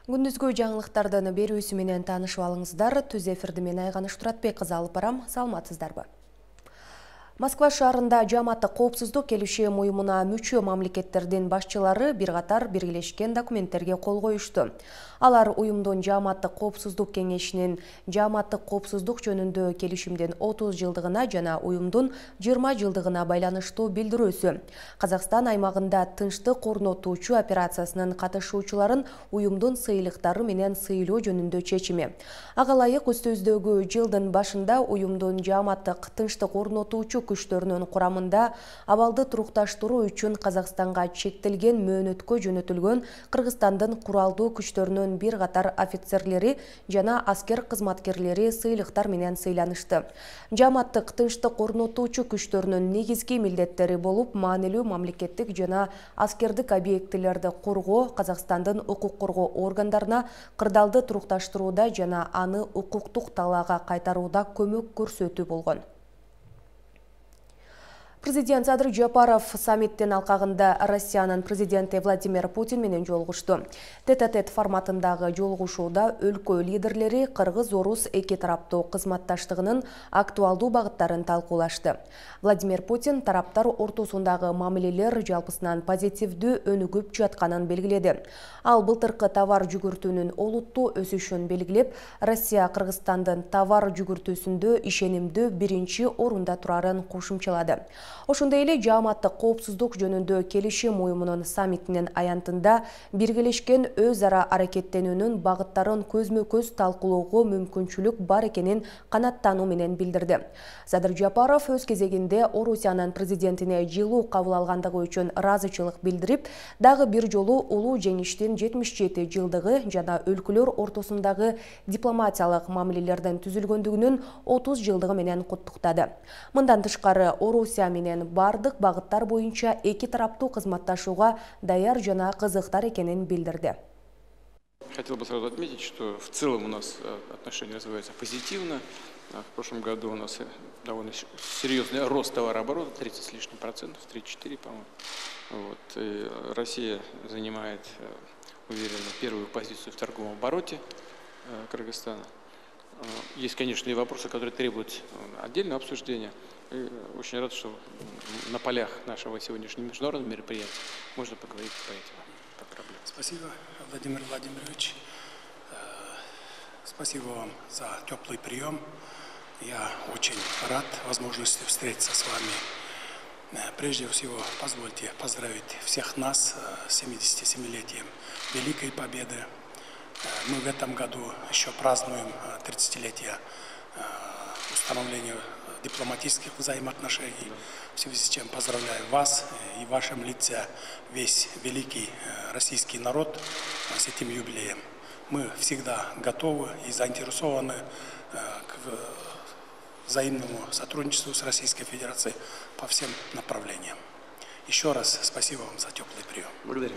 Күндүзгү жаңылыктардын берүүсү менен таанышып алыңыздар. Түз эфирди мен Айганыш Туратбек кызы алып барам. Саламатсыздарбы? Москва шаарында жааматтык коопсуздук келишим уюмуна мүчө мамлекеттердин башчылары бир катар биргелешкен документтерге кол коюшту. Алар уюмдун жааматтык коопсуздук кеңешинин жааматтык коопсуздук жөнүндө келишимдин 30 жылдыгына жана уюмдун 20 жылдыгына байланыштуу билдирүүсү. Казакстан аймагында тынчтык орнотуучу операциясынын катышуучуларын уюмдун сыйлыктары менен сыйлоо жөнүндө чечими. Ага ылайык үстүбүздөгү жылдын башында уюмдун жааматтык тынчтык орнотуучу күчтөрүнүн курамында абалды турукташтыруу үчүн Казакстанга чектелген мөөнөткө жөнөтүлгөн Кыргызстандын куралдуу күчтөрүнүн бир катар офицерлери жана аскер кызматкерлери сыйлыктар менен сыйланышты. Жааматтык тынчтык орнотуучу күчтөрүнүн негизги милдеттери болуп, маанилүү мамлекеттик жана аскердик объектилерди коргоо, Казакстандын укук коргоо органдарына кырдаалды турукташтырууда жана аны укуктук талаага кайтарууда көмөк көрсөтүү болгон. Президент Садыр Жапаров саммиттин алкагында Россиянын президенти Владимир Путин менен жолугушту. Тет-а-тет форматындагы жолугушууда өлкө лидерлери кыргыз-орус эки тараптуу кызматташтыгынын актуалдуу багыттарын талкуулашты. Владимир Путин тараптар ортосундагы мамилелер жалпысынан позитивдүү өнүгүп жатканын белгиледи. Ал былтыркы товар жүгүртүүнүн олуттуу өсүшүн белгилеп, Россия Кыргызстандын товар жүгүртүүсүндө ишенимдүү биринчи орунда турарын кошумчалады. Ошондой эле жааматтык коопсуздук жөнүндө келишим уюмунун саммитинин аянтында биргелешкен өз ара аракеттенүүнүн багыттарын көзмө-көз талкуулоого мүмкүнчүлүк бар экенин канаттануу менен билдирди. Садыр Жапаров өз кезегинде Орусиянын президентине жылуу кабыл алгандыгы үчүн ыраазычылык билдирип, дагы бир жолу улуу жеңиштин 77 жылдыгы жана өлкөлөр ортосундагы дипломатиялык мамилелердин түзүлгөндүгүнүн 30 жылдыгы менен куттуктады. Мындан тышкары Орусия менен бардык багыттар боюнча эки тараптуу кызматташууга даяр жана кызыктар экенин билдирди. Хотел бы сразу отметить, что в целом у нас отношения развиваются позитивно. В прошлом году у нас довольно серьезный рост товарооборота, 30 с лишним процентов, 3-4, по-моему. Вот. И Россия занимает уверенно первую позицию в торговом обороте Кыргызстана. Есть, конечно, и вопросы, которые требуют отдельного обсуждения. И очень рад, что на полях нашего сегодняшнего международного мероприятия можно поговорить по этим проблемам. Спасибо, Владимир Владимирович. Спасибо вам за теплый прием. Я очень рад возможности встретиться с вами. Прежде всего, позвольте поздравить всех нас с 77-летием Великой Победы. Мы в этом году еще празднуем 30-летие установления дипломатических взаимоотношений, в связи с чем поздравляю вас и в вашем лице весь великий российский народ с этим юбилеем. Мы всегда готовы и заинтересованы к взаимному сотрудничеству с Российской Федерацией по всем направлениям. Еще раз спасибо вам за теплый прием. Благодарю.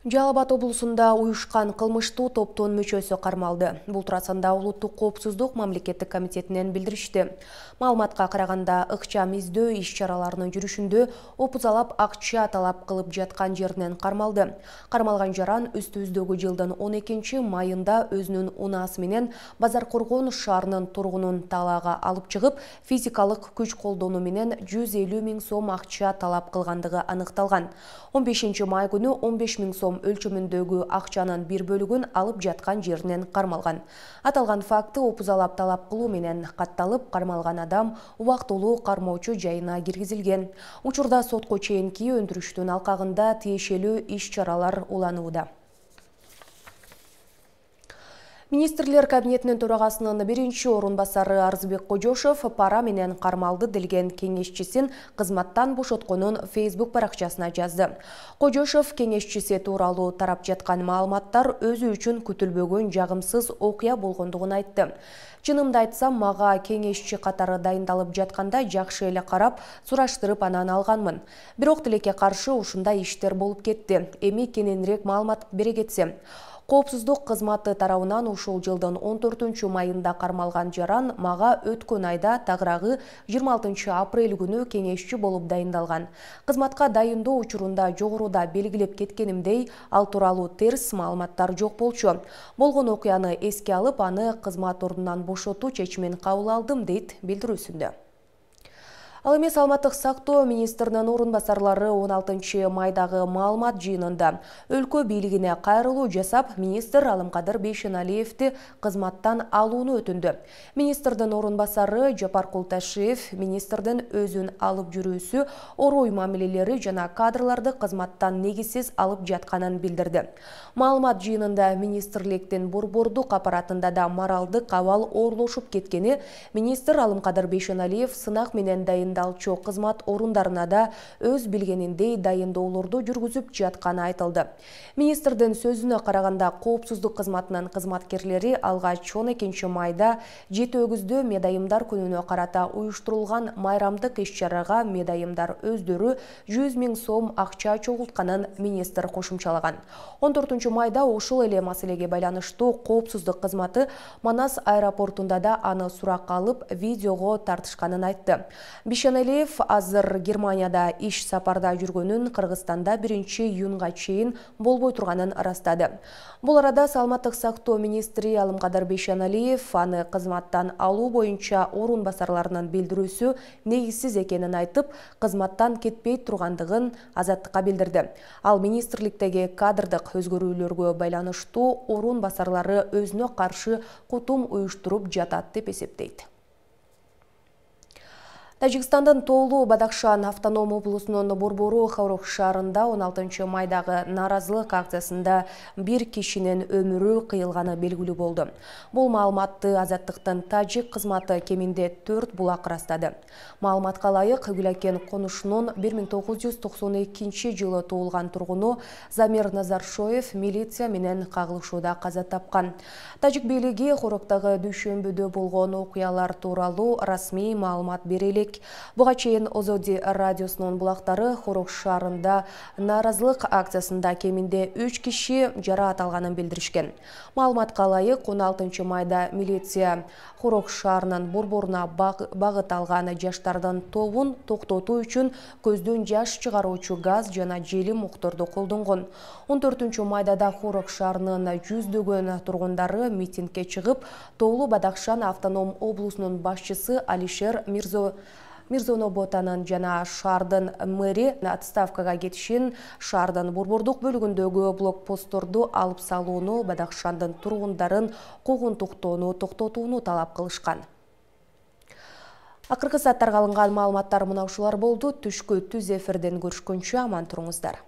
Жалал Абад облусунда уюшкан кылмыштуу топтун мүчөсү кармалды. Бул туурасында Улуттук коопсуздук мамлекеттик комитетинен билдиришти. Маалыматка караганда, ыкчам издөө иш-чараларынын жүрүшүндө опузалап акча талап кылып жаткан жеринен кармалды. Кармалган жаран үстүбүздөгү жылдын 12 майында өзүнүн унаасы менен Базаркоргон шаарынын тургунун талаага алып чыгып, физикалык күч колдонуу менен 150 000 сом акча талап кылгандыгы аныкталган. 15 май күнү 15 000 сом өлчөмүндөгү акчанын бир бөлүгүн алып жаткан жеринен кармалган. Аталган факты опузалап талап кылуу менен катталып, кармалган адам убактылуу кармоочу жайына киргизилген. Учурда сотко чейинки өндүрүштүн алкагында тиешелүү иш-чаралар уланууда. Министрлер кабинетинин төрагасынын биринчи орун басары Арзыбек Кожошов пара менен кармалды делген кеңешчисин кызматтан бошотконун Facebook баракчасына жазды. Кожошов кеңешчиси тууралуу тарап жаткан маалыматтар өзү үчүн күтүлбөгөн жагымсыз окуя болгондугун айтты. Чынымды айтсам, мага кеңешчи катары дайындалып жатканда жакшы эле карап, сураштырып анан алганмын. Бирок тилекке каршы ушундай иштер болуп кетти. Эми кененирээк маалымат бере кетсем. Коопсуздук кызматы тарабынан ушул жылдын 14-майында кармалган жаран мага өткөн айда тагыраагы 26 апрель күнү кеңешчи болуп дайындалган. Кызматка дайындоо учурунда жогоруда белгилеп кеткенимдей, ал тууралуу терс маалыматтар жок болчу. Болгон окуяны эске алып, аны кызмат ордунан бошотуу чечимин кабыл алдым, дейт билдирүүсүндө. Ал эми саламаттык сактоо министринин орун басарлары 16-майдагы маалымат жыйынында өлкө бийлигине кайрылуу жасап, министр Алымкадыр Бейшеналиевди кызматтан алууну өтүндү. Министрдин орун басары Жапар Култашев министрдин өзүн алып жүрүүсү, орой мамилелери жана кадрларды кызматтан негизсиз алып жатканын билдирди. Маалымат жыйынында министрликтин борбордук аппаратында да моралдык абал оорлошуп кеткени, министр Алымкадыр Бейшеналиев сынак менен дайындалчу кызмат орундарына да өз билгениндей дайындоолорду жүргүзүп жатканы айтылды. Министрдин сөзүнө караганда, коопсуздук кызматынын кызматкерлери алгач 12-майда Жети өгүздө медайымдар күнүнө карата уюштурулган майрамдык иш-чарага медайымдар өздөрү 100 000 сом акча чогултканын министр кошумчалаган. 14-майда ошол эле маселеге байланыштуу коопсуздук кызматы Манас аэропортунда да аны суракка алып, видеого тартышканын айтты. Бейшеналиев азыр Германияда иш сапарда жүргөнүн, Кыргызстанда 1-июнга чейин болбой турганын ырастады. Бул арада саламаттык сактоо министри Алымкадыр Бейшеналиев аны кызматтан алуу боюнча орун басарларынын билдирүүсү негизсиз экенин айтып, кызматтан кетпей тургандыгын Азаттыкка билдирди. Ал министрликтеги кадрдык өзгөрүүлөргө байланыштуу орун басарлары өзүнө каршы кутум уюштуруп жатат деп эсептейт. Тажикстандын Тоолу Бадахшан автоном облусунун борбору Хорох шаарында 16-майдагы нааразылык акциясында бир кишинин өмүрү кыйылганы белгилүү болду. Бул маалыматты Азаттыктын тажик кызматы кеминде 4 булак ырастады. Маалыматка ылайык, Гүлакен конушунун 1992 жылы туулган тургуну Замир Назаршоев милиция менен кагылышууда каза тапкан. Тажик бийлиги Хороктогу дүйшөмбүдө болгон окуялар тууралуу расмий маалымат бере элек. Буга чейин Озоди радиосунун булактары Хорох шаарында нааразылык акциясында кеминде 3 киши жараат алганын билдиришкен. Маалыматка ылайык, 16-майда милиция Хорох шаарынын борборуна багыт алган жаштардын тобун токтотуу үчүн көздөн жаш чыгаруучу газ жана желим мукторду колдонгон. 14-майда да Хорох шаарынын жүздөгөн тургундары митингге чыгып, Тоолу Бадахшан автоном облусунун башчысы Алишер Мирзоноботанын жана шаардын мэри отставкага кетишин, шаардын борбордук бөлүгүндөгү блокпостторду алып салууну, Бадахшандын тургундарын куугунтуктоону токтотууну талап кылышкан. Акыркы сааттарга алынган маалыматтар мына ушулар болду. Түшкү түз эфирден көрүшкөнчө аман туруңуздар.